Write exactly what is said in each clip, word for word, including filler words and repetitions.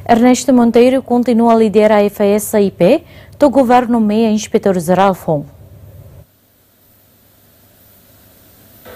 Ernesto Monteiro kontinua lidera AIFAESA I P, to'o governu nomeia inspetór jerál foun.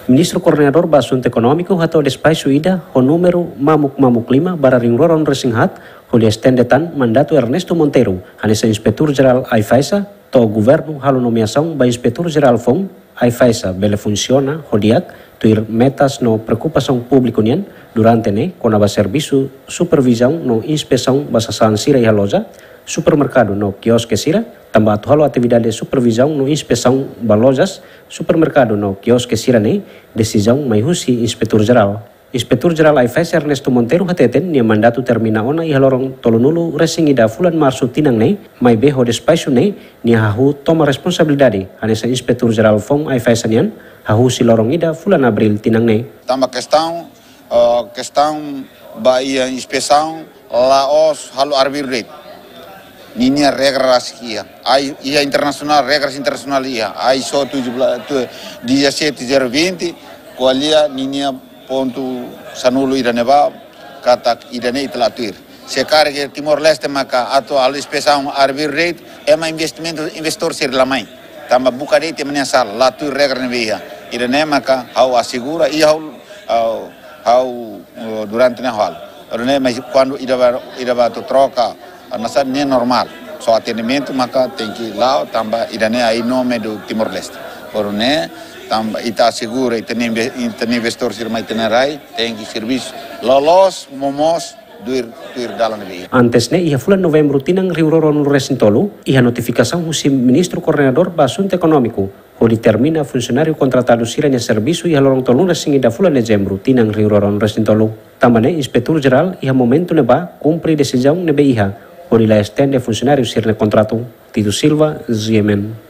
Ministru Koordenadór ba Asuntu Ekonómiku hato'o despaxu ida ho númeru mamuk mamuk lima barra rihun rua ruanulu resin haat, hodi estende tan mandatu Ernesto Monteiro hanesan inspetór jerál AIFAESA, to'o governu halo nomeasaun ba inspetór jerál foun AIFAESA bele funsiona ho di'ak, tuir metas no preokupasaun públiku nian durante ne'e, kona-ba servisu supervizaun no inspesaun ba sasán sira iha loja, supermerkadu no kioske sira, tanba atu halo atividade supervizaun no inspesaun ba lojas, supermerkadu no kioske sira-ne'e, desizaun mai husi inspetór jerál. Inspetór jerál AIFAESA Ernesto Monteiro hateten nia mandatu termina ona iha loron tolunulu resin ida fulan Marsu tinan ne'e, maibé ho despaxu ne'e nia hahú toma responsabilidade hanesan inspetór jerál foun AIFAESA nian, hahú husi loron ida fulan Abríl tinan ne'e. Tanba kestaun, ah, kestaun ba iha inspesaun la'ós halo arbiru de'it. Ninia regra rasik iha. Ai, iha internasionál, regras internasionál iha. ISO tujuh belas, tu, dezasete zero vinte, ko'alia ninia pontu sanulu ida-ne'ebá, katak ida-ne'e ita la tuir. Se karik Timor-Leste maka atu halo inspesaun arbiru de'it, ema investimentu, investór sira la mai. Tanba buka de'it ema nia sala, la tuir regra ne'ebé iha. Ida-ne'e maka ha'u asegura, i ha'u, ha'u, ha'u, eh, durante ne'e ha'u halo. Ida-ne'e, mas kuandu ida ba, ida ba atu troka, ah, nasa ne'e normál. Só atendimentu maka tenke la'o, tanba ida-ne'e ai nome do Timor-Leste. Ida-ne'e, tanba ita asegura, ita-nia inve-, ita-nia investór sira mai ita-nia rai, tenke servisu loloos, momoos, tuir, tuir dalan ne'ebé iha. Antes ne'e, iha fulan Novembru tinan rihun rua ruanulu resin tolu, iha notifikasaun husi Ministru Koordenadór ba Asuntu Ekonómiku, hodi termina funsionáriu kontratadu sira-nia servisu iha loron tolunulu resin ida fulan Dezembru tinan rihun rua ruanulu resin tolu. Tanba ne'e, inspetór jerál iha momentu ne'ebá kumpre desizaun ne'ebé iha, hodi la estende funsionáriu sira-nia kontratu. Tito Silva, G M N.